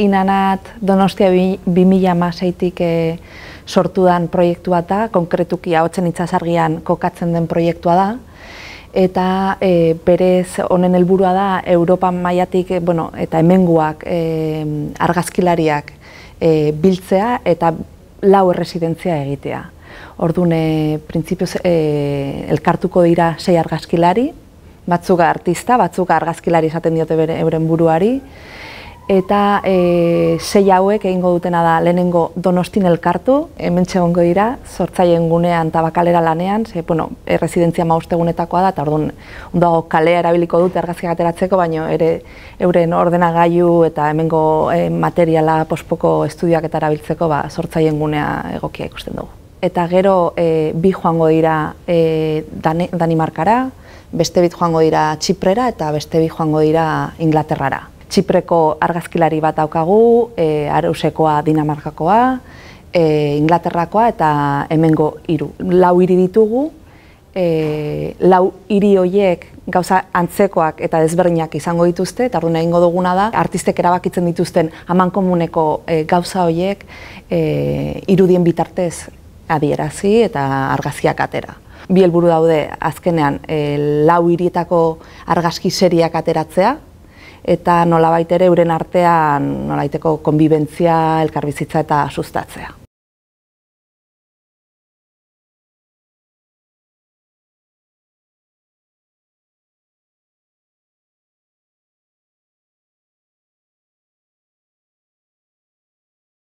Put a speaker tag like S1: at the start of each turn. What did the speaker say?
S1: Inanat Donostia 2016tik sortu den proiektu bat da, konkretuki Ahotsen Itsasargian kokatzen den proiektua da. Eta berez honen helburua da Europa mailatik eta hemengoak argazkilariak biltzea eta 4 erresidentzia egitea. Orduan, printzipioz elkartuko dira 6 argazkilari, batzuk artista, batzuk argazkilari esaten diote euren buruari, eta 6 hauek egingo dutena da lehenengo Donostin elkartu, hementxe egongo dira, sortzaileen gunean eta bakalera lanean, erresidentzia 5 egunetakoa da, eta orduan ondoago kalea erabiliko dute argazkiak ateratzeko, baina ere euren ordenagailu eta hemengo materiala pospoko estudioak eta erabiltzeko sortzaileen gunea egokia ikusten dugu. Eta gero bi joango dira Danimarkara, beste bi joango dira Txiprera eta beste bi joango dira Inglaterrara. Txipreko argazkilari bat daukagu, Arausekoa Dinamarkakoa, Inglaterrakoa eta hemengo 3. 4 hiri ditugu, 4 hiri horiek gauza antzekoak eta desberdinak izango dituzte, eta orduan egingo duguna da, artistek erabakitzen dituzten amankomuneko gauza horiek irudien bitartez adierazi eta argazkiak atera. Bi helburu daude azkenean 4 hirietako argazki seriak ateratzea, eta nolabait ere euren artean nolabaiteko konbibentzia, elkarbizitza eta sustatzea.